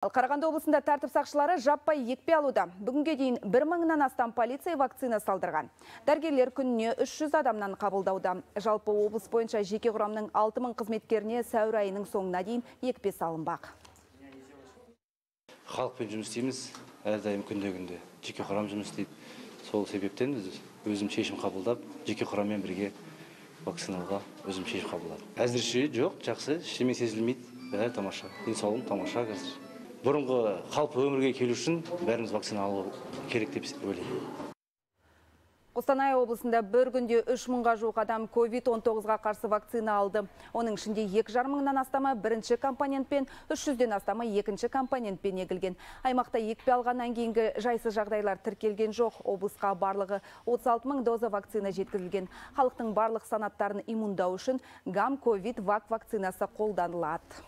Қарағанды облысында тәртіп сақшылары жаппай екпе алуда. Бүгінге дейін 1000-нан астам полиция вакцина салдырған. Дәрігерлер күніне 300 адамнан қабылдауда. Жалпы облыс бойынша жеке құрамның 6000 қызметкеріне сәуір айының соңына дейін екпе салынбақ. Халықпен жұмыс істейміз, әрдайым күнде жеке құрам жұмыс істейді. Сол себептен өзім шешім қабылдап, жеке құраммен бірге вакциналауға өзім шешім қабылдадым. Әзірше жоқ, жақсы, ештеме сезілмейді. Бәрі тамаша. Денсаулығым тамаша қазір. Бұрынғы қалыпты өмірге келу үшін бәріміз вакцина алу керек деп ойлаймын. Қостанай облысында бір күнде 3000-ға жуық адам COVID-19-ға қарсы вакцина алды. Оның ішінде 2500-нан астамы бірінші компонентпен, 300-ден астамы екінші компонентпен егілген. Аймақта екпе алғаннан кейінгі жайсыз жағдайлар тіркелген жоқ. Облысқа барлығы 36000 доза вакцина жеткізілген. Халықтың барлық санаттарын иммундау үшін гам-ковид вак вакцинасы қолданылады.